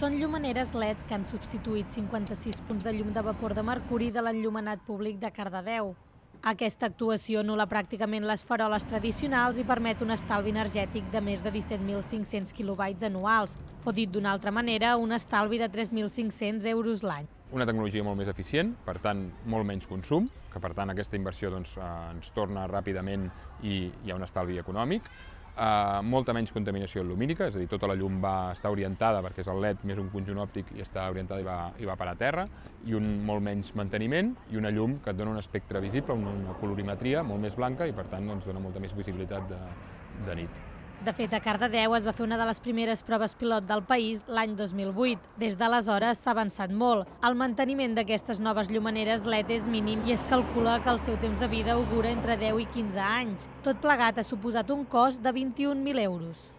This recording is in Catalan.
Són llumaneres LED que han substituït 56 punts de llum de vapor de mercuri de l'enllumenat públic de Cardedeu. Aquesta actuació anul·la pràcticament les faroles tradicionals i permet un estalvi energètic de més de 17.500 quilowatt anuals, o dit d'una altra manera, un estalvi de 3.500 euros l'any. Una tecnologia molt més eficient, per tant, molt menys consum, que per tant aquesta inversió ens torna ràpidament i hi ha un estalvi econòmic. Molta menys contaminació lumínica, és a dir, tota la llum està orientada, perquè és el LED més un conjunt òptic i està orientada i va parar a terra, i un molt menys manteniment i una llum que et dona un espectre visible, una colorimetria molt més blanca i per tant ens dona molta més visibilitat de nit. De fet, a Cardedeu es va fer una de les primeres proves pilot del país l'any 2008. Des d'aleshores s'ha avançat molt. El manteniment d'aquestes noves llumaneres LED és mínim i es calcula que el seu temps de vida augura entre 10 i 15 anys. Tot plegat ha suposat un cost de 21.000 euros.